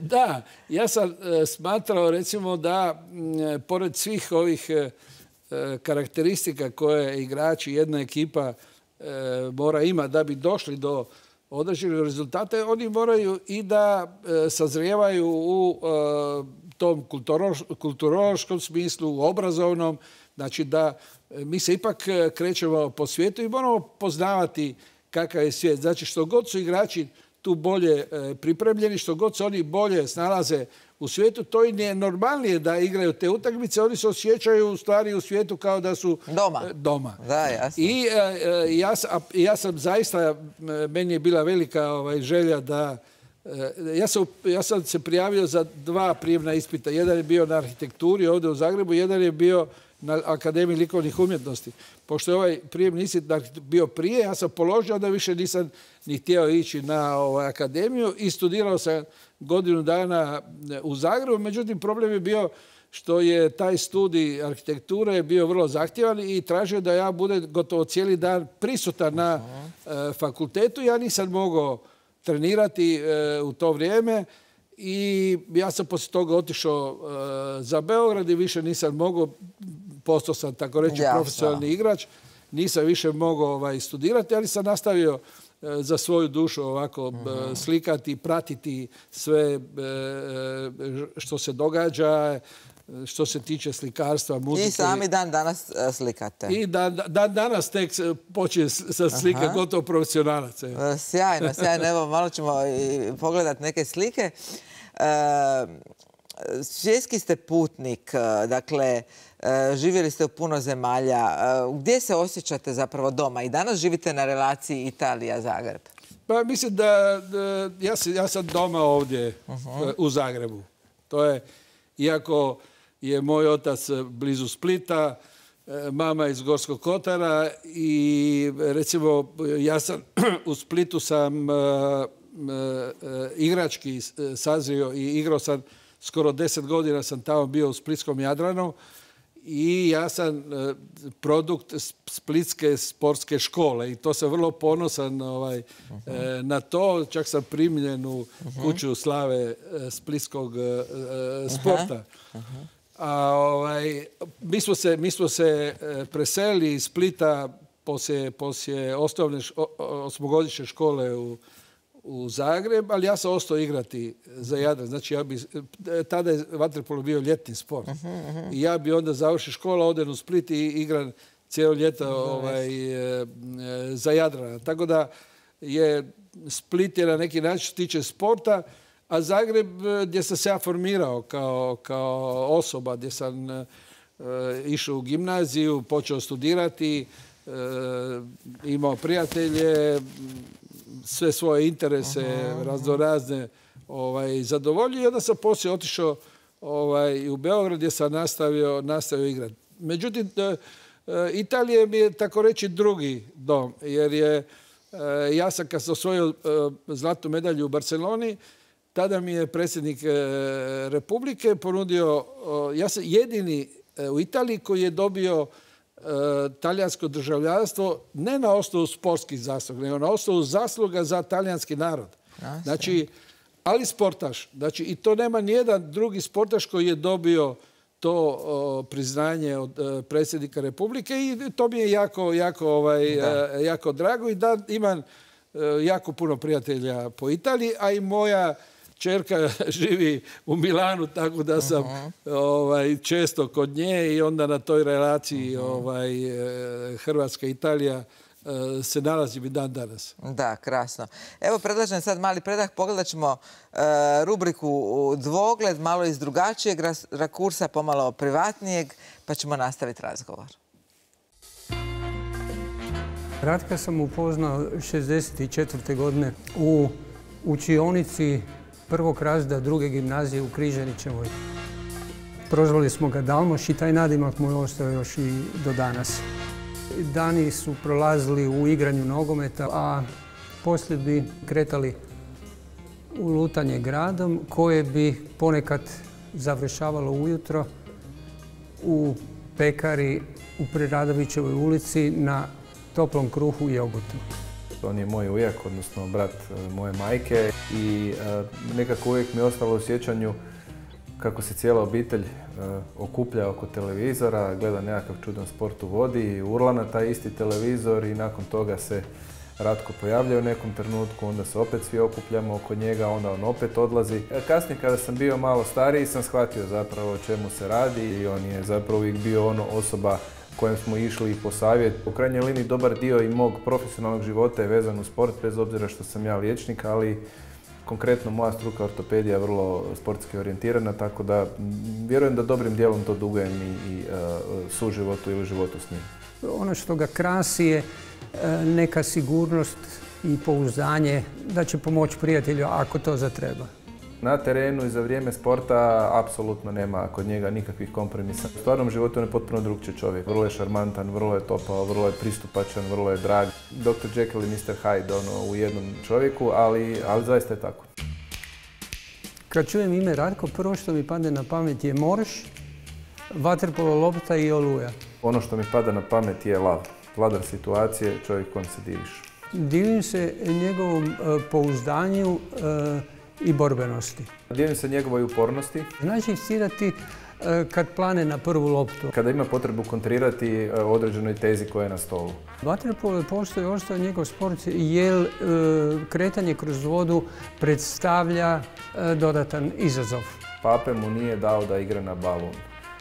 Da, ja sam smatrao recimo da pored svih ovih karakteristika koje igrači, jedna ekipa mora imati da bi došli do određenih rezultata, oni moraju i da sazrijevaju u tom kulturološkom smislu, u obrazovnom, znači da mi se ipak krećemo po svijetu i moramo poznavati kakav je svijet. Znači što god su igrači tu bolje pripremljeni, što god se oni bolje snalaze u svijetu, to im je normalnije da igraju te utakmice. Oni se osjećaju u stvari u svijetu kao da su doma. doma. Da, jasno. I e, ja, sam, ja sam zaista, meni je bila velika ovaj, želja da... E, ja, sam, ja sam se prijavio za dva prijemna ispita. Jedan je bio na arhitekturi ovdje u Zagrebu, jedan je bio na Akademiji likovnih umjetnosti. Pošto je ovaj prijemni ispit bio prije, ja sam položio, onda više nisam ni htio ići na ovaj, akademiju i studirao sam godinu dana u Zagrebu. Međutim, problem je bio što je taj studij arhitekture bio vrlo zahtjevan i tražio da ja budem gotovo cijeli dan prisutan na uh, fakultetu. Ja nisam mogao trenirati uh, u to vrijeme i ja sam poslije toga otišao uh, za Beograd i više nisam mogao postao sam tako reći Jasno. profesionalni igrač. Nisam više mogao ovaj, studirati, ali sam nastavio za svoju dušu ovako mm-hmm. slikati, pratiti sve što se događa, što se tiče slikarstva, muzike. I sami dan danas slikate. I dan, dan danas tek počne sa slike gotovo profesionalac. Sjajno, sjajno. Evo, malo ćemo pogledati neke slike. E, svjetski ste putnik, dakle, živjeli ste u puno zemalja. Gdje se osjećate zapravo doma? I danas živite na relaciji Italija-Zagreb. Pa mislim da, da ja, sam, ja sam doma ovdje uh-huh. u Zagrebu. To je, iako je moj otac blizu Splita, mama iz Gorskog Kotara i recimo ja sam u Splitu sam uh, uh, igrački sazrio i igrao sam skoro deset godina sam tamo bio u Splitskom Jadranu i ja sam uh, produkt Splitske sportske škole i to sam vrlo ponosan ovaj, uh-huh. uh, na to. Čak sam primljen u uh-huh. kuću slave uh, splitskog uh, sporta. Uh-huh. Uh-huh. A, ovaj, mi smo se, mi smo se uh, preselili iz Splita poslije, poslije osnovne š, osmogodišnje škole u u Zagreb, ali ja sam ostao igrati za Jadran. Znači, ja bi, tada je vaterpolo bio ljetni sport. Uh-huh, uh-huh. I ja bi onda završio škola, odem u Split i igram cijelo ljeto uh-huh. ovaj, za Jadran. Tako da je Split je na neki način tiče sporta, a Zagreb gdje sam se ja formirao kao, kao osoba, gdje sam uh, išao u gimnaziju, počeo studirati, uh, imao prijatelje, sve svoje interese, uh-huh. raznorazne ovaj, zadovoljio i onda sam poslije otišao ovaj, u Beograd gdje sam nastavio, nastavio igrati. Međutim, Italija mi je tako reći drugi dom, jer je, ja sam kad sam osvojio zlatnu medalju u Barceloni, tada mi je predsjednik Republike ponudio, ja sam jedini u Italiji koji je dobio talijansko državljanstvo ne na osnovu sportskih zasluga, nego na osnovu zasluga za talijanski narod. Znači, ali sportaš. Znači, i to nema nijedan drugi sportaš koji je dobio to o, priznanje od o, predsjednika Republike i to mi je jako, jako, ovaj, jako drago i da imam o, jako puno prijatelja po Italiji, a i moja čerka živi u Milanu, tako da sam uh-huh. ovaj, često kod nje i onda na toj relaciji uh-huh. ovaj, Hrvatska-Italija se nalazim i dan danas. Da, krasno. Evo, predlažem sad mali predah. Pogledat ćemo uh, rubriku Dvogled, malo iz drugačijeg rakursa, pomalo privatnijeg, pa ćemo nastaviti razgovor. Ratka sam upoznao šezdeset četvrte godine u učionici prvog razreda druge gimnazije u Križanićevoj. Prozvali smo ga Dalmoš i taj nadimak mu je ostao još i do danas. Dani su prolazili u igranju nogometa, a poslije bi kretali u lutanje gradom koje bi ponekad završavalo ujutro u pekari u Preradovićevoj ulici na toplom kruhu i jogurtu. On je moj ujak, odnosno brat moje majke i nekako uvijek mi je ostalo u sjećanju kako se cijela obitelj okuplja oko televizora, gleda nekakav čudan sport u vodi, urla na taj isti televizor i nakon toga se Ratko pojavlja u nekom trenutku, onda se opet svi okupljamo oko njega, onda on opet odlazi. Kasnije kada sam bio malo stariji sam shvatio zapravo o čemu se radi i on je zapravo uvijek bio ono osoba kojem smo išli po savjet. U krajnjoj liniji dobar dio i mog profesionalnog života je vezan u sport, bez obzira što sam ja liječnik, ali konkretno moja struka ortopedija je vrlo sportski orijentirana, tako da vjerujem da dobrim dijelom to dugujem i, i uh, suživotu ili životu s njim. Ono što ga krasi je neka sigurnost i pouzdanje da će pomoći prijatelju ako to zatreba. Na terenu i za vrijeme sporta apsolutno nema kod njega nikakvih kompromisa. U stvarnom životu on je potpuno drugčiji čovjek. Vrlo je šarmantan, vrlo je topao, vrlo je pristupačan, vrlo je drag. doktor Jekyll i mister Hyde ono, u jednom čovjeku, ali, ali zaista je tako. Kad čujem ime Ratko, prvo što mi padne na pamet je morš, vaterpolo lopta i oluja. Ono što mi pada na pamet je lav. Vladar situacije, čovjek kojem se diviš. Divim se njegovom uh, pouzdanju uh, i borbenosti. Divim se njegovoj upornosti. Znači, inicirati kad plane na prvu loptu. Kada ima potrebu kontrirati određenoj tezi koja je na stolu. Vaterpolo postoji ostao njegov sport jer kretanje kroz vodu predstavlja dodatan izazov. Pape mu nije dao da igra na balun.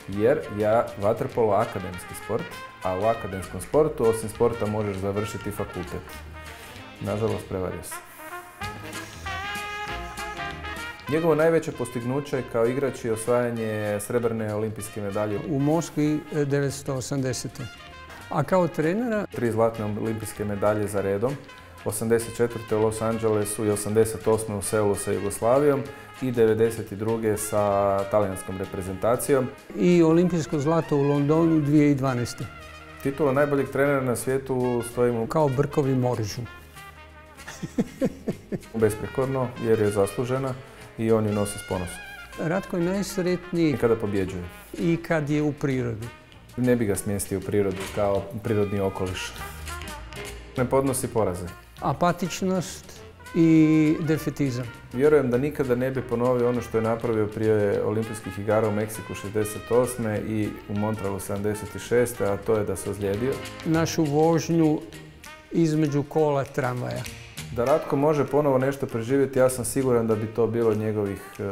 Jer je vaterpolo akademski sport, a u akademskom sportu osim sporta možeš završiti fakultet. Nažalost, prevario se. Njegovo najveće postignuće kao igrač je osvajanje srebrne olimpijske medalje u Moskvi devetsto osamdesete. A kao trenera? Tri zlatne olimpijske medalje za redom. osamdeset četvrte u Los Angelesu i osamdeset osme u Seulu sa Jugoslavijom i devedeset druge sa talijanskom reprezentacijom. I olimpijsko zlato u Londonu dvije tisuće dvanaeste. Titula najboljeg trenera na svijetu stoji mu kao brkovi moržu. Besprekorno jer je zaslužena i on ju nosi s ponosom. Ratko je najsretniji i kada pobjeđuje. I kad je u prirodi. Ne bi ga smjestio u prirodu kao prirodni okoliš. Ne podnosi poraze. Apatičnost i defetizam. Vjerujem da nikada ne bi ponovio ono što je napravio prije olimpijskih igara u Meksiku šezdeset osme i u Montrealu sedamdeset šeste a to je da se ozlijedio. Našu vožnju između kola tramvaja. Da Ratko može ponovo nešto preživjeti, ja sam siguran da bi to bilo njegovih e,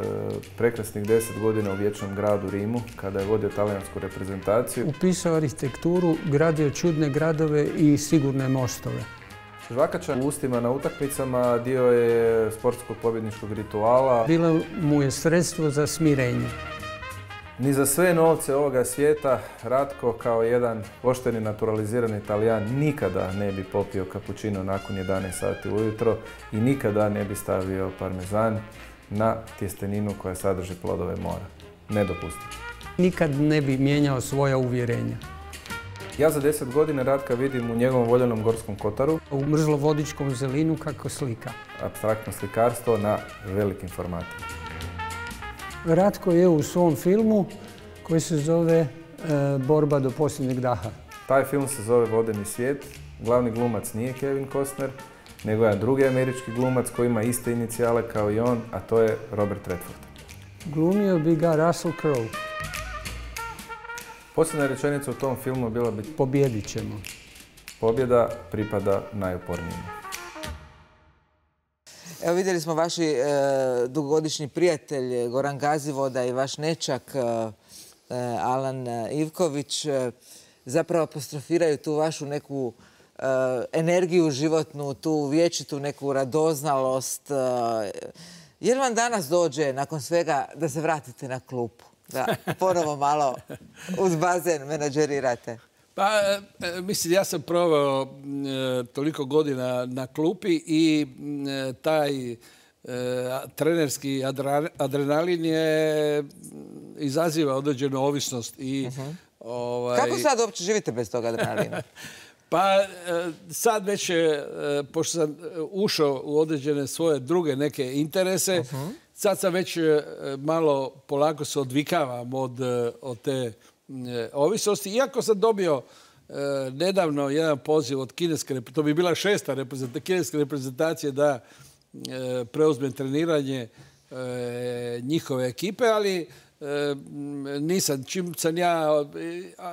prekrasnih deset godina u vječnom gradu Rimu, kada je vodio talijansku reprezentaciju. Upisao arhitekturu, gradio čudne gradove i sigurne mostove. Žvakača u ustima na utakmicama dio je sportskog pobjedničkog rituala. Bilo mu je sredstvo za smirenje. Ni za sve novce ovoga svijeta Ratko kao jedan pošteni naturalizirani Talijan nikada ne bi popio kapućino nakon jedanaest sati ujutro i nikada ne bi stavio parmezan na tjesteninu koja sadrži plodove mora. Nedopustivo. Nikad ne bi mijenjao svoja uvjerenja. Ja za deset godina Ratka vidim u njegovom voljenom Gorskom kotaru. U mrzlovodičkom zelinu kako slika. Apstraktno slikarstvo na velikim formatima. Ratko je u svom filmu koji se zove e, Borba do posljednjeg daha. Taj film se zove Vodeni svijet. Glavni glumac nije Kevin Costner, nego je drugi američki glumac koji ima iste inicijale kao i on, a to je Robert Redford. Glumio bi ga Russell Crowe. Posljedna rečenica u tom filmu bila bi: pobjedit ćemo. Pobjeda pripada najupornijima. Evo vidjeli smo vaši e, dugogodišnji prijatelj Goran Gazivoda i vaš nečak e, Alan Ivković e, zapravo apostrofiraju tu vašu neku e, energiju životnu, tu vječitu neku radoznalost. E, jer vam danas dođe nakon svega da se vratite na klupu? Da ponovo malo uz bazen menadžerirate. Pa, mislim, ja sam proveo e, toliko godina na klupi i e, taj e, trenerski adrenalin je izaziva određenu ovisnost. I, uh-huh. ovaj... Kako sad uopće živite bez toga adrenalina? Pa sad već, pošto sam ušao u određene svoje druge neke interese, uh-huh. sad sam već malo polako se odvikavam od, od te ovisnosti. Iako sam dobio e, nedavno jedan poziv od kineske, to bi bila šesta reprezentacija, kineske reprezentacije da e, preuzmem treniranje e, njihove ekipe, ali e, nisam, čim sam ja,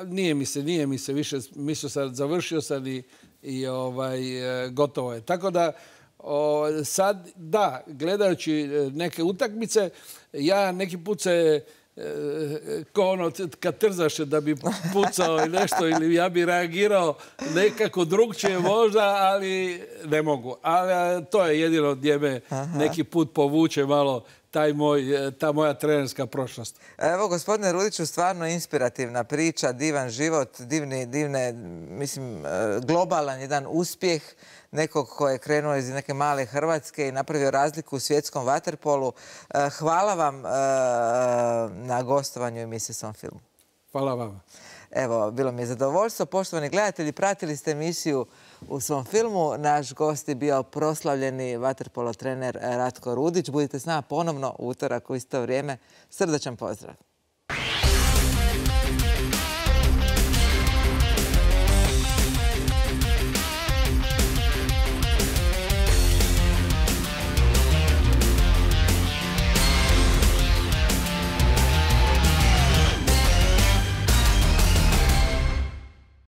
nije mi se, nije mi se više, mislio sam, završio sam i, i ovaj, e, gotovo je. Tako da o, sad, da, gledajući neke utakmice, ja neki put se ko ono kad trzaš da bi pucao i nešto ili ja bi reagirao nekako drugčije možda, ali ne mogu. Ali to je jedino gdje me neki put povuče malo taj moj, ta moja trenerska prošlost. Evo, gospodine Rudiću, stvarno inspirativna priča, divan život, divni, divne, mislim, globalan jedan uspjeh nekog ko je krenuo iz neke male Hrvatske i napravio razliku u svjetskom vaterpolu. Hvala vam na gostovanju emisije Svom filmu. Hvala vama. Evo, bilo mi je zadovoljstvo. Poštovani gledatelji, pratili ste emisiju U svom filmu. Naš gost je bio proslavljeni vaterpolo trener Ratko Rudić. Budite s nama ponovno u utorak u isto vrijeme. Srdačan pozdrav.